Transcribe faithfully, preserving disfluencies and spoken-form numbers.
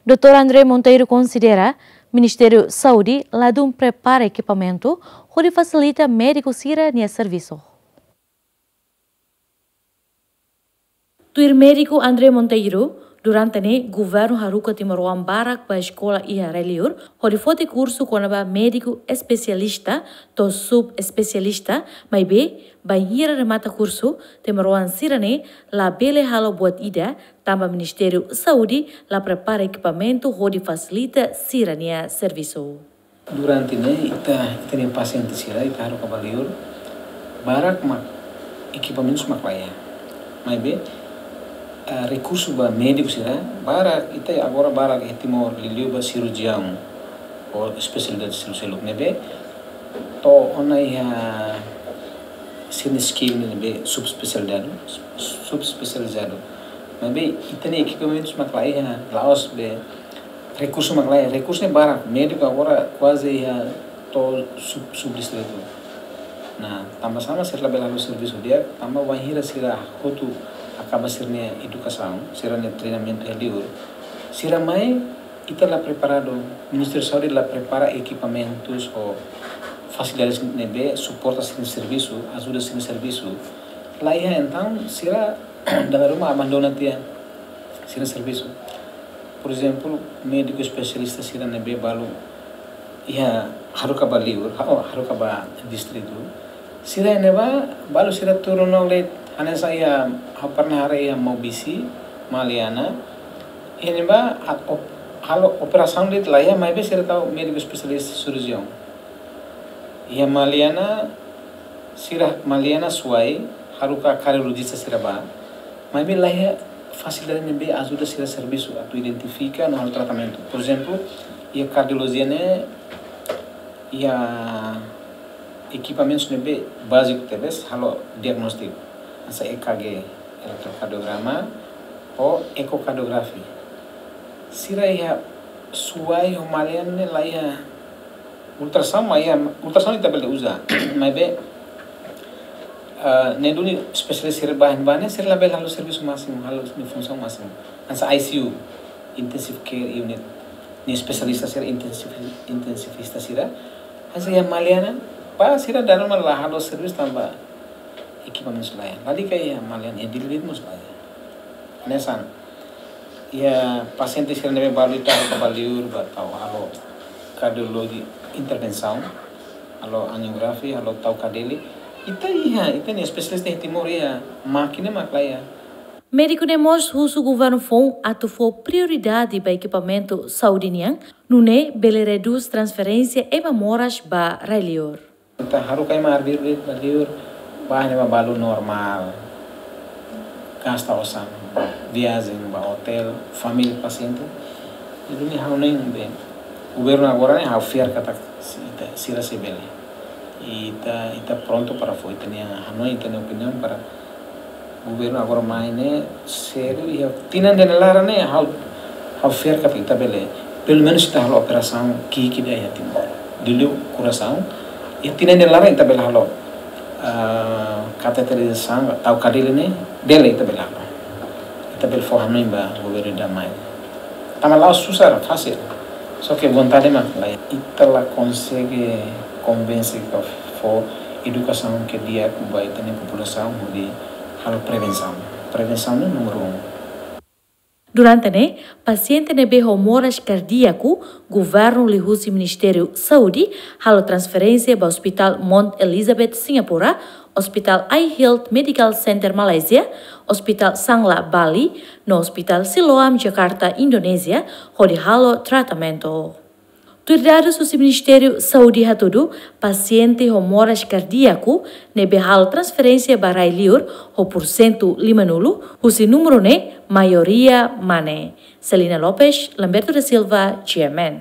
Doutór André Monteiro konsidera Ministériu Saúde ladún prepara ekipamentu hodi fasilita médiku sira-nia servisu. Tuir médiku André Monteiro, durante ne'e governu haruka timoroan barak ba eskola iha rai-liur hodi foti kursu kona-ba médiku espesialista to'o subespesialista, maibé bainhira remata kursu, timoroan sira-ne'e labele halo buat ida, tanba Ministériu Saúde la prepara ekipamentu hodi fasilita sira-nia servisu. Durante ne'e ita, ita-nia pasiente sira ita haruka ba liur, barak mak ekipamentus mak laiha. Maibé, eh, rekursu ba médiku sira barak, ita agora barak iha Timor liuliu ba sirurjiaun ou espesialidade seluk-seluk ne'ebé to'o ona iha sira-nia skill ne'ebé subespesializadu, subespesializadu. Maibé ita-nia ekipamentus mak laiha, la'ós be rekursu mak laiha, rekursu ne'e barak, médiku agora kuaze iha to'o sub, subdistritu. Nah, tanba sá mak sira labele halo servisu di'ak, tanba bainhira sira hotu akaba sira-nia edukasaun, sira-nia treinamentu iha liur, sira mai, ita la preparadu, Ministériu Saúde la prepara ekipamentus ou fasilidades ne'ebé suporta sira-nia servisu, ajuda sira-nia servisu. Laiha, entaun sira dala ruma abandona tiha sira-nia servisu. Por ezemplu, médiku espesialista sira ne'ebé balu iha haruka ba liur, ha-, oh, haruka ba distritu. Sira ne'ebá balu sira turun ona de'it, hanesan iha, ha'u pernah haree iha Maubisse, Maliana. Iha ne'ebá a-, op-, halo operasaun de'it laiha, maibé sira tau médiku espesialista sirurjiaun. Iha Maliana, sira Maliana Suai, haruka kardiolojista sira bá. Maibé laiha fasilidade ne'ebé ajuda sira servisu atu identifika no halo tratamentu. Por ezemplu, iha kardiolojia ne'e iha ekipamentus ne'ebé báziku tebes halo diagnóstiku. Hanesan E K G, eletrokardiograma, ou ecocardiography. Sira iha Suai ho Maliana ne'e laiha ultrasound, maibé ultrasound ita bele uza. Maibé, ah, ne'e duni espesialista sira bá iha ne'ebá ne'e, sira labele halo servisu másimu, halo nia funsaun másimu. Hanesan I C U, intensive care unit. Nia espesialista sira intensiv-, intensivista sira. Hanesan iha Maliana, bá sira dala ruma la halo servisu tanba ekipamentus laiha. Lalika iha Maliana, iha Dili de'it mós laiha. Hanesan iha pasiente sira ne'ebé balu ita haruka ba liur bá tau halo kardiologi intervensaun, halo anjiografia, halo tau kadele. Ita iha, ita-nia espesialista iha Timor iha, mákina mak laiha. Médiku ne'e mós husu governu foun atu fó prioridade ba ekipamentu saúde nian, nune'e bele redús transferénsia ema moras ba rai-liur. Ita haruka ema arbiru de'it ba liur, bá iha ne'ebá balu normál. Gasta osan, viajen, bá otél, família pasiente. Jadi ne'e ha'u hanoin be, governu agora ne'e ha'u fiar katak si-, ita, sira sei bele. Ita, ita prontu para fó ita-nia hanoin, ita-nia opiniaun para governu agora mai ne'e sériu, iha tinan ida-ne'e laran ne'e ha'u, ha'u fiar katak ita bele, pelumenus ita halo operasaun ki'ik ida iha Timor. Dili korasaun, iha tinan ida-ne'e laran ita bele halo, ah, kateterizasaun, tau kadele ne'e, bele ita bele halo. Ita bele fó hanoin ba governu ida mai. Tanba la'ós susar, fasil. Só ke vontade mak laiha. Ita la konsege konvense ka fó edukasaun ke di'ak ba ita-nia populasaun hodi halo prevensaun. Prevensaun ne'e númeru un. Durante ne'e, pasiente ne'ebé ho moras kardíaku, governu liuhusi Ministériu Saúde halo transferénsia ba Hospital Mount Elizabeth Singapura, Hospital Eye Health Medical Center Malaysia, Hospital Sanglah Bali, no Hospital Siloam Jakarta Indonézia, hodi halo tratamentu. Tuir dadus husi Ministériu Saúde hatudu, pasiente ho moras kardíaku ne'ebé halo transferénsia ba rai-liur ho porsentu lima-nulu, husi númeru ne'e maioria mane. Celina Lopes, Lamberto da Silva, G M N.